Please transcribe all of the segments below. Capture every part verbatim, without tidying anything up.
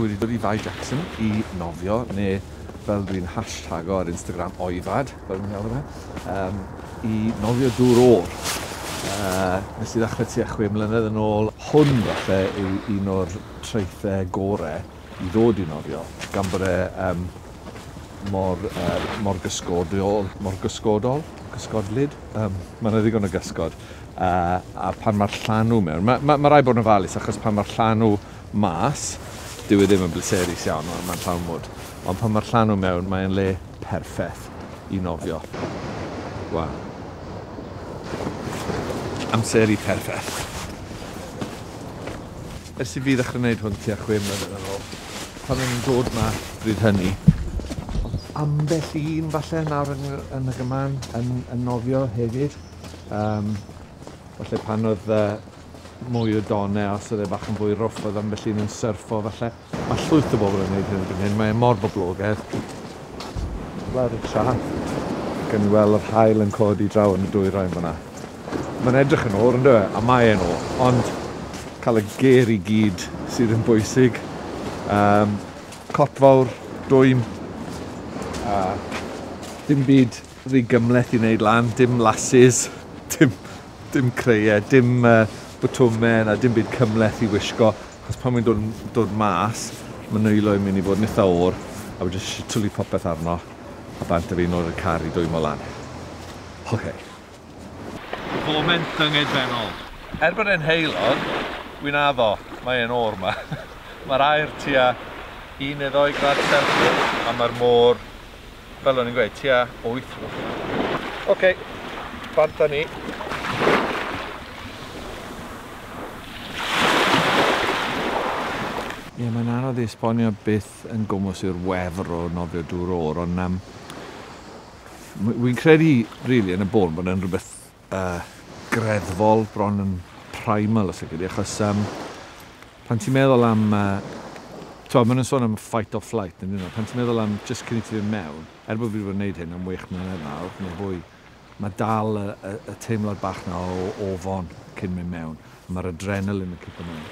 Wedi dod i Fae Jackson i nofio, neu fel dwi'n hashtago ar Instagram, oifad, fel dwi'n galw fe, um, i nofio dŵr oer. Uh, nes i ddechrau tua chwe mlynedd yn ôl. Hwn falle yw un o'r traethau gorau i ddod i nofio, gan bod e um, mor, uh, mor gysgodol, mor gysgodol, gysgodlyd. Um, mae yna ddigon o gysgod. Uh, a pan mae'r llanw mewn, mae ma, ma rhaid bod yn ofalus achos pan mae'r llanw mas, dyw e ddim yn bleserus iawn, mae'n llawn mwd. Ond pan mae'r llanw mewn, mae'n le perffaith i nofio. Waw. Amseru perffaith. Ers i fi ddechrau gwneud hwn tua chwe mlynedd yn ôl, pan o'n i'n dod ma bryd hynny, ambell un falle nawr yn, yn y gyman yn, yn nofio hefyd. Um, falle pan oedd uh, mwy o donau, os oedd e bach yn fwy rough, oedd ambell un yn syrffo falle. Mae llwyth o bobl yn gwneud hyn erbyn hyn, mae e mor boblogaidd. Lawr y traeth, gan i weld yr haul yn codi draw yn y dwyrain fyna. Mae'n edrych yn oer, yndyw e? A mae e'n oer, ond cael y ger i gyd sydd yn bwysig. Um, cot fawr, dwym, a dim byd rhy gymhleth i wneud lan, dim lasis, dim, dim creiau, dim uh, botwmau na dim byd cymhleth i wisgo. Achos pan mae'n dod, dod mas, mae nwylo yn mynd i fod yn eitha oer, a mae jyst eisiau twlu popeth arno, a bant â fi nôl i'r car i dwymo lan. Oce. Okay. Foment dyngedfennol. Er bod e'n heulog, wy'n addo, mae e'n oer ma. Mae'r aer tua un neu ddoi gradd Celsius, a mae'r môr, fel o'n i'n gweud, tua wyth. Oce, okay, bant â ni. Ie, yeah, mae'n anodd i esbonio beth yn gwmws yw'r wefr o nofio dŵr oer, ond um, wy'n credu, really, yn y bôn, bod e'n rhywbeth uh, greddfol, bron yn primal, os ydych, achos um, pan ti'n meddwl am, uh, t'wod, maen nhw'n sôn am fight or flight, yn dyn nhw, pan ti'n meddwl am just cyn i ti fynd mewn, er bod fi wedi bod yn gwneud hyn am wech mlynedd nawr, neu fwy, mae dal y, y, y teimlad bach na o ofon cyn mynd mewn, a mae'r adrenalin yn cipo mewn.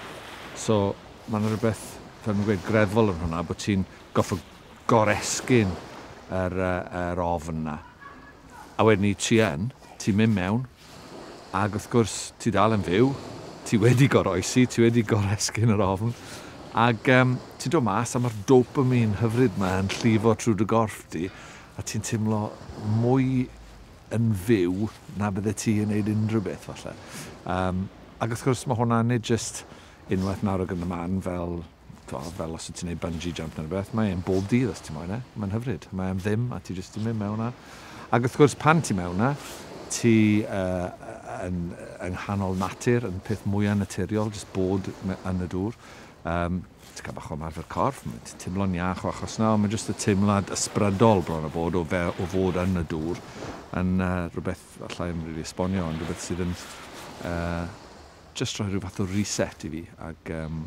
So, mae yna rhywbeth, fel mae'n gweud, greddfol yn hwnna, bod ti'n goffo goresgyn yr, yr ofn na. A wedyn ni ti yn, ti'n mynd mewn, ac wrth gwrs ti dal yn fyw, ti wedi goroesi, ti wedi goresgyn yr ofn, ac um, ti'n dod mas a mae'r dopamine hyfryd yma yn llifo trwy dy gorff di, a ti'n teimlo mwy yn fyw na bydde ti yn neud unrhyw beth falle. Um, ac wrth gwrs mae hwnna nid just unwaith nawr ag yn y man fel, fel os ti'n neud bungee jump neu rhywbeth, mae'n bob dydd os ti'n moyn e, mae'n hyfryd, mae'n ddim a ti jyst yn mynd mewn na. Ac wrth gwrs pan ti mewn na, ti uh, yn, yng nghanol natur, yn peth mwyaf naturiol, jyst bod yn y dŵr. Um, ti'n cael bach o ymarfer corff, ti'n teimlo'n iach o achos na, ond mae jyst y teimlad ysbrydol bron o bod o, fe, o fod yn y dŵr yn uh, rhywbeth allai ddim really esbonio, ond rhywbeth sydd yn uh, just rhoi rhyw fath o reset i fi, ac um,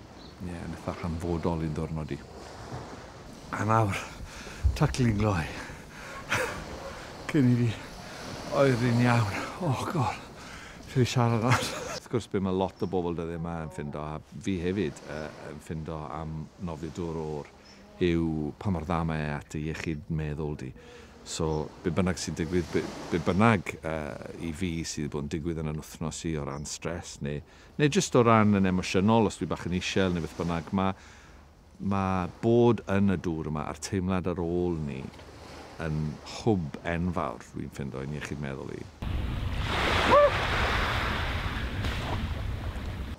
yeah, yn eitha hanfodol i'n ddwrnod i. A nawr, taclu'n gloi. Cyn i fi oeri'n iawn. Oh god, fi siarad nawr. Wrth gwrs, be mae lot o bobl dyddiau yma yn ffindo, a fi hefyd uh, yn ffindo am nofio dŵr oer, yw pa mor dda mae e at y iechyd meddwl di. So, be bynnag sy'n digwydd, be, be bynnag uh, i fi sydd bod yn digwydd yn yn wythnos i o ran stres, neu, neu jyst o ran yn emosiynol, os dwi bach yn isel neu beth bynnag, mae ma bod yn y dŵr yma a'r teimlad ar ôl ni yn hwb enfawr, dwi'n ffindo, i'n iechyd meddwl i.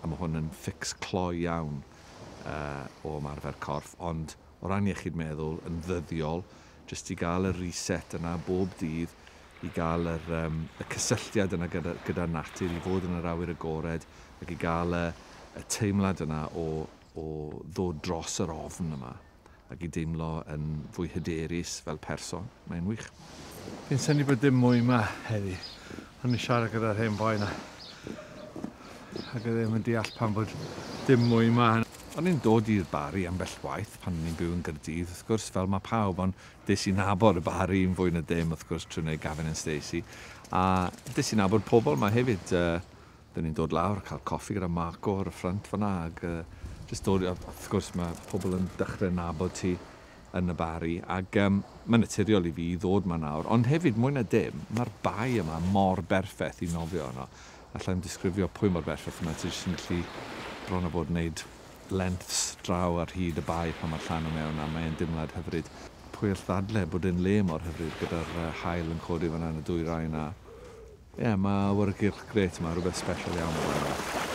A mae hwn yn fix cloi iawn uh, o ymarfer corff, ond o ran iechyd meddwl yn ddyddiol, jyst i gael y reset yna bob dydd, i gael yr, um, y cysylltiad yna gyda, gyda natur, i fod yn yr awyr agored, ac i gael y, y teimlad yna o, o ddod dros yr ofn yma, ac i deimlo yn fwy hyderus fel person. Mae'n wych. Fi'n synnu bod dim mwy yma heddi. O'n i siarad gyda'r hen boi yna. Ac oedd ddim yn deall pam bod dim mwy yma. O'n i'n dod i'r Barri ambell waith pan o'n i'n byw yn Gaerdydd, wrth gwrs, fel mae pawb, ond des i nabod y Barri yn fwy na dim, wrth gwrs, trwy wneud Gavin and Stacey. A des i nabod pobl yma hefyd. Uh, Dyn ni'n dod lawr a cael coffi gyda Marco ar y ffrynt fan'na, ac uh, Just dod, wrth gwrs mae pobl yn dechrau nabod ti yn y Bari, ac um, mae'n naturiol i fi i ddod 'ma nawr, ond hefyd mwy na dim, mae'r bae yma mor berffaith i nofio yno. Alla i'm disgrifio pwy mor berffaith yma, ti jyst yn gallu bron o bod wneud lengths draw ar hyd y bae pan mae'r llanw mewn, a mae'n dimlad hyfryd. Pwy all ddadle bod e'n le mor hyfryd gyda'r uh, haul yn codi fan'na yn y dwyrain a ie, yeah, mae awyrgylch grêt yma, rhywbeth special iawn yma.